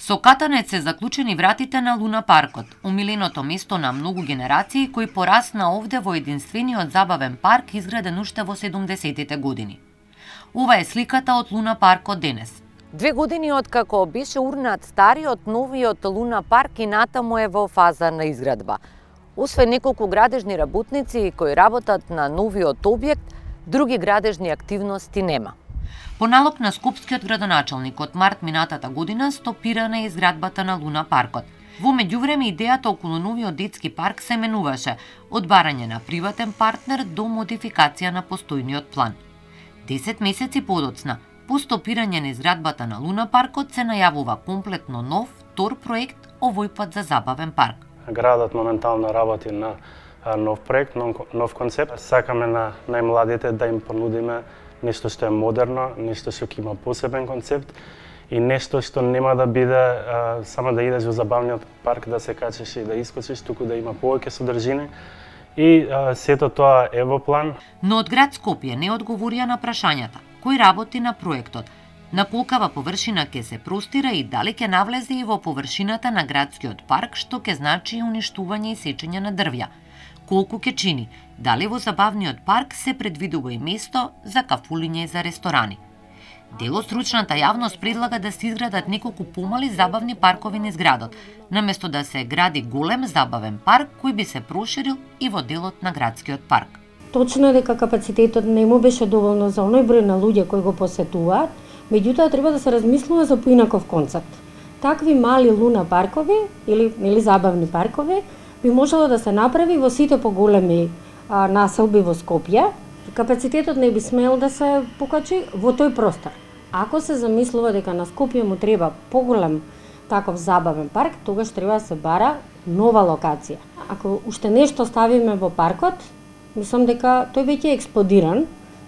Со катанец се заклучени вратите на Луна паркот, умиленото место на многу генерации кој порасна овде во единствениот забавен парк изграден уште во 70-тите години. Ова е сликата од Луна паркот денес. 2 години откако беше урнат стариот, новиот Луна парк и натаму е во фаза на изградба. Освен неколку градежни работници кои работат на новиот објект, други градежни активности нема. По налог на скопскиот градоначалник од март минатата година стопирана е изградбата на Луна паркот. Во меѓувреме идејата околу новиот детски парк се менуваше од барање на приватен партнер до модификација на постојниот план. 10 месеци подоцна, по стопирање на изградбата на Луна паркот се најавува комплетно нов, втор проект, овој пат за забавен парк. Градот моментално работи на нов проект, нов концепт. Сакаме на најмладите да им понудиме нешто што е модерно, нешто што ќе има посебен концепт и нешто што нема да биде само да идеш во забавниот парк, да се качиш и да искочиш, туку да има повеќе содржина. И сето тоа е во план. Но од град Скопје не одговорија на прашањата кој работи на проектот, на колкава површина ќе се простира и дали ќе навлезе и во површината на градскиот парк, што ќе значи уништување и сечење на дрвја. Колку ќе чини, дали во забавниот парк се предвидува и место за кафулиња и за ресторани. Дел од стручната јавност предлага да се изградат неколку помали забавни паркови низ градот, наместо да се гради голем забавен парк кој би се проширил и во делот на градскиот парк. Точно е дека капацитетот не му беше доволно за оној број на луѓе кои го посетуваат, меѓутоа треба да се размислува за поинаков концепт. Такви мали луна паркови или забавни паркови би можело да се направи во сите поголеми населби во Скопје. Капацитетот не би смел да се покачи во тој простор. Ако се замислува дека на Скопје му треба поголем таков забавен парк, тогаш треба да се бара нова локација. Ако уште нешто ставиме во паркот, мислам дека тој веќе е експлодиран,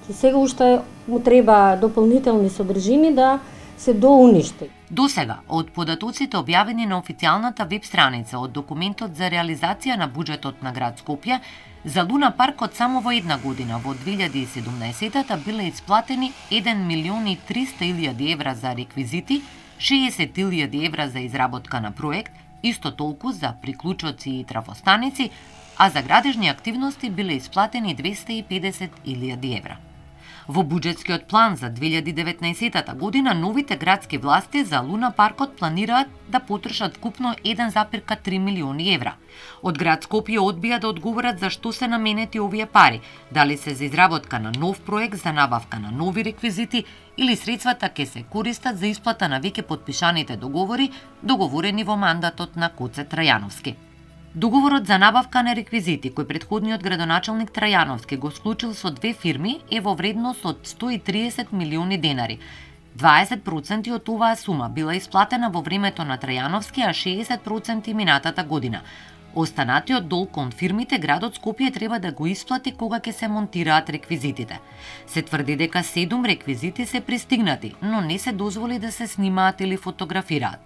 и сега уште му треба дополнителни содржини да се доуништи. Досега, од податоците објавени на официјалната веб страница од документот за реализација на буџетот на град Скопје, за Луна паркот само во една година, во 2017-та, биле исплатени 1.300.000 евра за реквизити, 60.000 евра за изработка на проект, исто толку за приклучоци и трафостаници, а за градежни активности биле исплатени 250.000 евра. Во буџетскиот план за 2019 година новите градски власти за Луна паркот планираат да потрошат вкупно 1,3 милиони евра. Од град Скопје одбија да одговорат за што се наменети овие пари, дали се за изработка на нов проект за набавка на нови реквизити или средствата ќе се користат за исплата на веќе потпишаните договори, договорени во мандатот на Коце Трајановски. Договорот за набавка на реквизити кој претходниот градоначалник Трајановски го склучил со две фирми е во вредност од 130 милиони денари. 20% од оваа сума била исплатена во времето на Трајановски, а 60% минатата година. Останатиот долг кон фирмите градот Скопје треба да го исплати кога ќе се монтираат реквизитите. Се тврди дека 7 реквизити се пристигнати, но не се дозволи да се снимаат или фотографираат.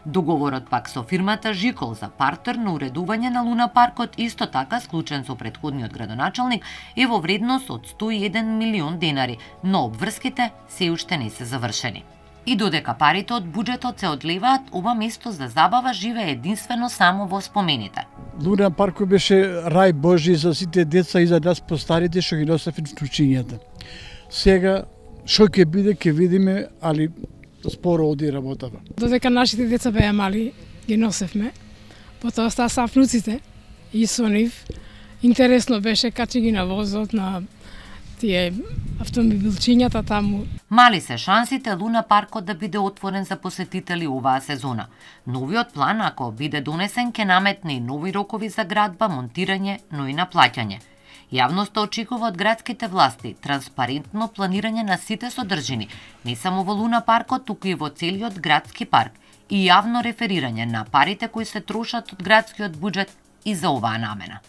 Договорот пак со фирмата Жикол за партер на уредување на Луна паркот, исто така склучен со претходниот градоначалник, е во вредност од 101 милион денари, но обврските се уште не се завршени. И додека парите од буџетот се одлеваат, ова место за забава живее единствено само во спомените. Луна паркот беше рај Божи за сите деца и за нас постарите што ги носевме вклучињата. Сега што ќе биде ќе видиме, али споро оди работава. Додека нашите деца беа мали, ги носевме. Потоа стаса внуците и со нив. Интересно беше, качи ги на возот, на тие автомобилчињата таму. Мали се шансите Луна паркот да биде отворен за посетители оваа сезона. Новиот план, ако биде донесен, ќе наметне и нови рокови за градба, монтирање, но и наплаќање. Јавноста очекува од градските власти транспарентно планирање на сите содржини, не само во Луна паркот, туку и во целиот градски парк, и јавно реферирање на парите кои се трошат од градскиот буџет и за оваа намена.